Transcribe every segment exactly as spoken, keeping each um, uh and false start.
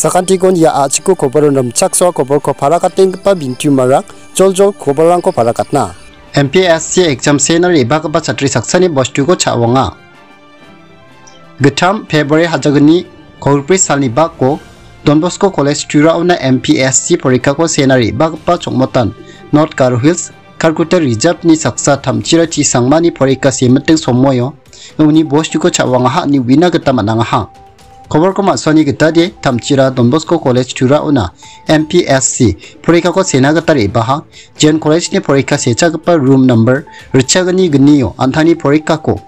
Sakantikon ia a·chiko koboro rimchaksoa koborko parakatenggipa bintiumarang joljol koborrangko parakatna. M P S C exam sena re·bagipa chatri saksani bostuko cha·wanga. Gittam February hajalgni kolgribrui salni bako Don Bosco College Turaona M P S C porikako sena re·bagipa chongmotan North Garo Hills, Calcutta Reserve-ni saksa Tamchira T. Sangmani porika semiting somoio uni bostuko cha·wangaha ine uina gita man·angaha. Koborko ma·songani gitade Tamchira Don Bosco College Turaona M P S C porikako sena gita re·baha, jeon college-ni porika sechagipa room number ritchagni gnio an·tangni porikako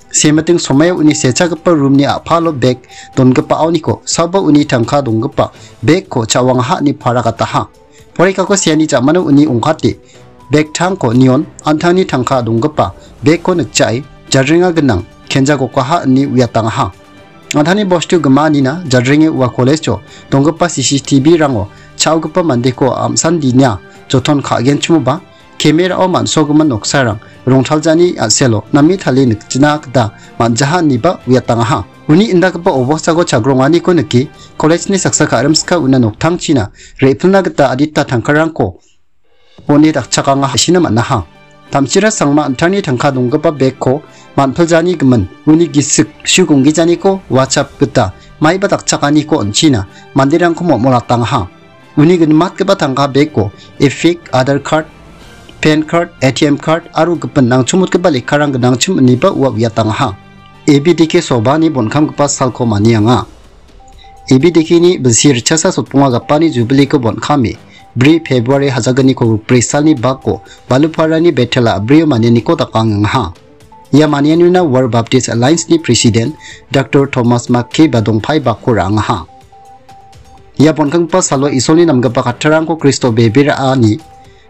semiting somoio uni sechagipa room-ni a·palo bag dongipaoniko saoba uni tangka donggipa bag-ko cha·wangaha ine parakataha. Porikako seani jamano uni ong·kate bag tangko nion an·tangni tangka donggipa bag-ko nikjae jadrenga gnang kenjagokaha ine uiatangaha. An·tangni bostu gimaanina jadrenge ua college-o donggipa C C T V-rango cha·ogipa mandeko am·sandinia joton ka·genchimoba, camera-o man·sogimin noksarang rongtaljani a·selo name talie nikjina gita man·jaha ineba uiatangaha. Uni indakgipa obostako chagrongani nike college-ni saksa ka·rimska una noktangchina re·pilna gita adita tangkarangko one dakchakanga hasina man·aha. Tamchira Sangma an·tangni tangka donggipa bag-ko man·piljani gimin uni gisik su gonggijaniko WhatsApp gita maiba dakchakaniko on·china manderangko momolatangaha. Uni ginimatgipa tangka bag-o EPIC, Aadhaar card, PAN card, A T M card aro gipin nangchimotgipa lekkarang gnangchim ineba ua uiatangaha. A B D K sobani bonkamgipa salko manianga. A B D K-ni bilsi ritchasa sotponga gapani jubiliko bonkame, bri February hajalgniko bri salni bako Baluparani Bethela abrio manianiko dakangengaha. Ia manianina World Baptist Alliance-ni President Doctor Thomas Mackay ba dongpai bako ra·angaha. Ia bonkanggipa salo Isolni namgipa kattarangko Kristo bebe ra·ani,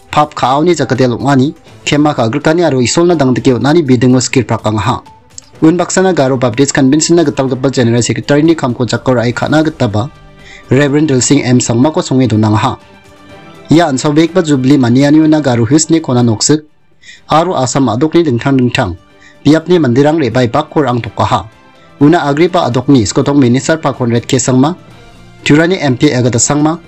pap ka·aoni jakate ong·ani, kema ka·grikani aro Isolna dangdike on·ani bidingo skirprakangaha. Unbaksana Garo Baptist Convention-na gitalgipa General Secretary-ni kamko jako ra·e ka·na gitaba Reverend Dilsing M Sangmako songe donangaha. Ia an·saobegipa Jubilee manianiona Garo Hills-ni kona noksik aro Assam a·dokni dingtang dingtang biapni manderang re·bae bakko ra·angtokaha. Una agriba a·dokni skotong minister Pa Conrad K Sangma, Turani M P Agata Sangma,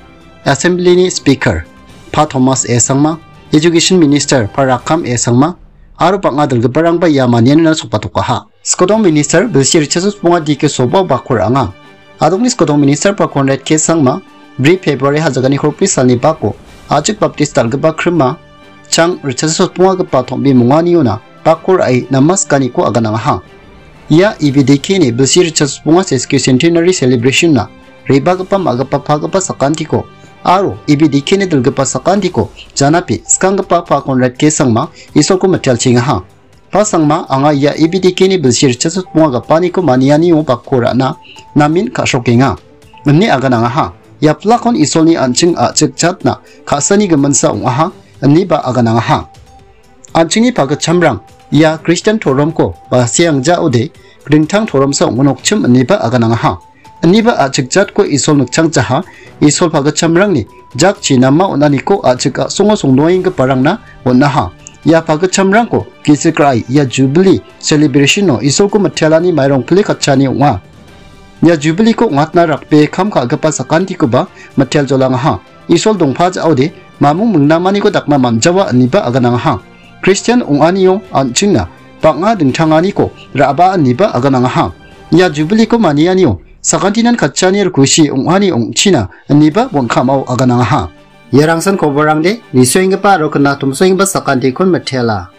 Assembly-ni Speaker Pa Thomas A Sangma, Education Minister Pa Rakkam A Sangma, aro bang·a dilgiparangba ia manianina sokbatokaha. Skotong Minister bilsi ritchasa sotponga D K Soba bakko ra·anga. A·dokni skotong minister Pa Conrad K Sangma, bri February hajalgni kolgribrui salni bako, A·chik Baptist dal·gipa Krima, chang ritchasa sotpongagipa tom·be monganiona bakko ra·e namaskaniko aganangaha. Ia A B D K-ni bilsi ritchasa sotponga sesquicentenary celebration-na re·bagipa ma·gipa pagipa sakantiko aro A B D K-ni dilgipa sakantiko janape skanggipa Pa Conrad K Sangma Isolko mitelchengaha. Pa Sangma, anga ia A B D K-ni bilsi ritchasa sotponga gapaniko manianio bakko ra·na namen ka·srokenga, ine aganangaha. Ia plakon Isolni an·ching a·chik jatna ka·sani giminsa ong·aha, ineba aganangaha. An·chingni pagitchamrang ia Kristian toromko ba seangjaode dingtang toromsa ong·nokchim ineba aganangaha. Ineba a·chik jatko Isol nikchangjaha, Isol pagitchamrangni jakchi nama on·aniko a·chik a·songo songdoenggiparangna on·aha. Ia pagitchamrangko gisik ra·e ia Jubilee celebration-o Isolko mitelani mairong pile katchani ong·a. Ia Jubilee-ko ong·atna rakbee kam ka·gipa sakantikoba mitel jolangaha. Isol dongpa ja·ode mamung mingnamaniko dakna man·jawa ineba aganangaha. Kristian ong·anio an·chingna bang·a dingtanganiko ra·baa ineba aganangaha. Ia Jubilee-ko manianio sakantinan katchani rikusi ong·ani ong·china ineba bonkamao aganangaha. Ia rangsan koborangde nisoenggipa aro knatomsoenggipa sakantikon mitela.